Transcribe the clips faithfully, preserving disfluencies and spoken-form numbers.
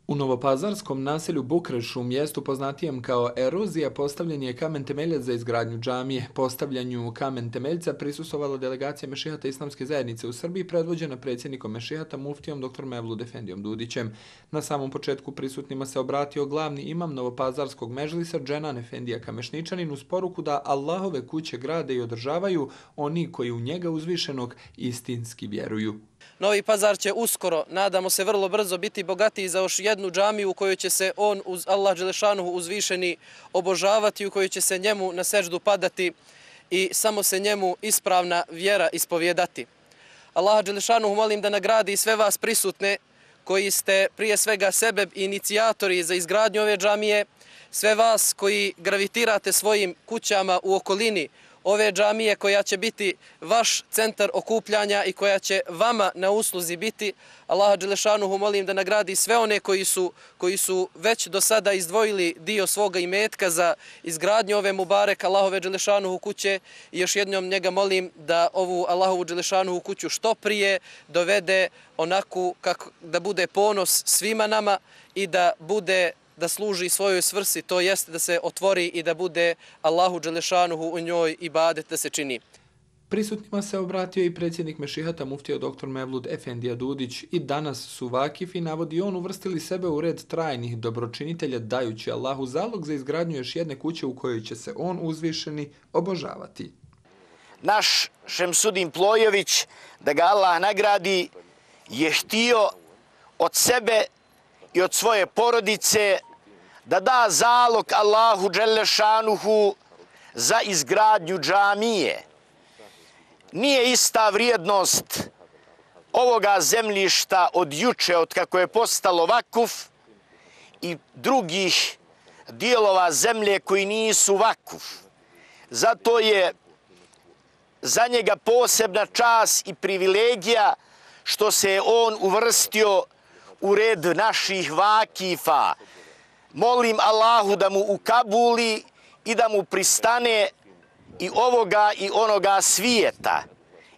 U novopazarskom naselju Bukrešu, mjestu poznatijem kao Erozija, postavljen je kamen temeljac za izgradnju džamije. Postavljanju kamen temeljca prisustvovalo delegacija Mešihata Islamske zajednice u Srbiji, predvođena predsjednikom Mešihata muftijom doktor Mevlud Efendijom Dudićem. Na samom početku prisutnima se obratio glavni imam novopazarskog medžlisa Dženan Efendija Kamešničanin uz poruku da Allahove kuće grade i održavaju oni koji u njega uzvišenog istinski vjeruju. Novi Pazar će uskoro, nadamo se vrlo brzo, biti bogatiji za još jednu džamiju u kojoj će se on uz Allah Đelešanuhu uzvišeni obožavati, u kojoj će se njemu na seždu padati i samo se njemu ispravna vjera ispovjedati. Allah Đelešanuhu molim da nagradi sve vas prisutne koji ste prije svega sebe inicijatori za izgradnju ove džamije, sve vas koji gravitirate svojim kućama u okolini ove džamije koja će biti vaš centar okupljanja i koja će vama na usluzi biti. Allaha Đelešanuhu molim da nagradi sve one koji su, koji su već do sada izdvojili dio svoga imetka za izgradnju ove Mubarek Allahove Đelešanuhu kuće i još jednom njega molim da ovu Allahovu Đelešanuhu kuću što prije dovede onako kako da bude ponos svima nama i da bude da služi svojoj svrsi, to jest da se otvori i da bude Allahu Đelešanuhu u njoj ibadet da se čini. Prisutnima se obratio i predsjednik Mešihata muftija doktor Mevlud Efendija Dudić. I danas su vakifi, navodi on, uvrstili sebe u red trajnih dobročinitelja dajući Allahu zalog za izgradnju još jedne kuće u kojoj će se on uzvišeni obožavati. Naš Šemsudin Plojević, da ga Allah nagradi, je htio od sebe i od svoje porodice da da zalog Allahu Đelešanuhu za izgradnju džamije. Nije ista vrijednost ovoga zemljišta od juče, od kako je postalo vakuf, i drugih dijelova zemlje koji nisu vakuf. Zato je za njega posebna čast i privilegija što se je on uvrstio u red naših vakifa. Molim Allahu da mu ukabuli i da mu pristane i ovoga i onoga svijeta.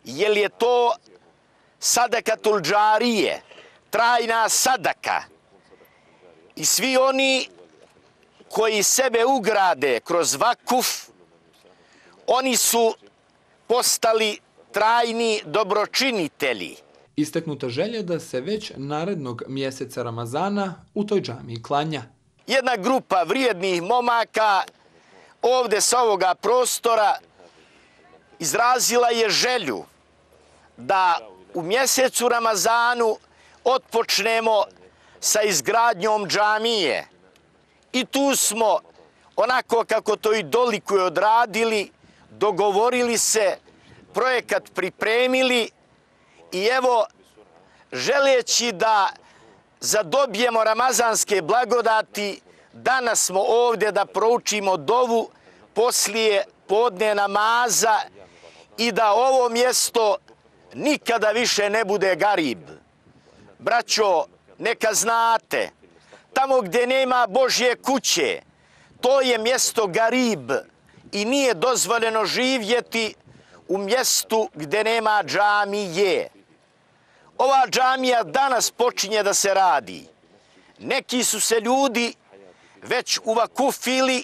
Jer je to sadakatul džarije, trajna sadaka. I svi oni koji sebe ugrade kroz vakuf, oni su postali trajni dobročinitelji. Istaknuta želja da se već narednog mjeseca Ramazana u toj džamiji klanja. Jedna grupa vrijednih momaka ovdje sa ovoga prostora izrazila je želju da u mjesecu Ramazanu otpočnemo sa izgradnjom džamije. I tu smo, onako kako to i dolikuje, odradili, dogovorili se, projekat pripremili. I evo, želeći da zadobijemo ramazanske blagodati, danas smo ovdje da proučimo dovu poslije podne namaza i da ovo mjesto nikada više ne bude garib. Braćo, neka znate, tamo gdje nema Božje kuće, to je mjesto garib i nije dozvoljeno živjeti u mjestu gdje nema džamije. Ova džamija danas počinje da se radi. Neki su se ljudi već uvakufili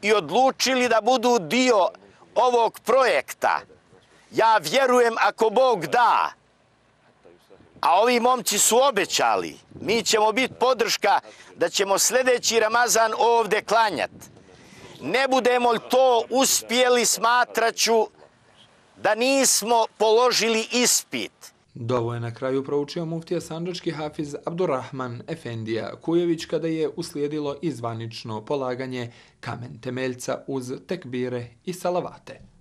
i odlučili da budu dio ovog projekta. Ja vjerujem ako Bog da, a ovi momci su obećali, mi ćemo biti podrška da ćemo sljedeći Ramazan ovdje klanjati. Ne budemo li to uspjeli, smatraću da nismo položili ispit. Dovo je na kraju proučio muftija sandžački hafiz Abdurrahman Efendija Kujević kada je uslijedilo izvanično polaganje kamen temeljca uz tekbire i salavate.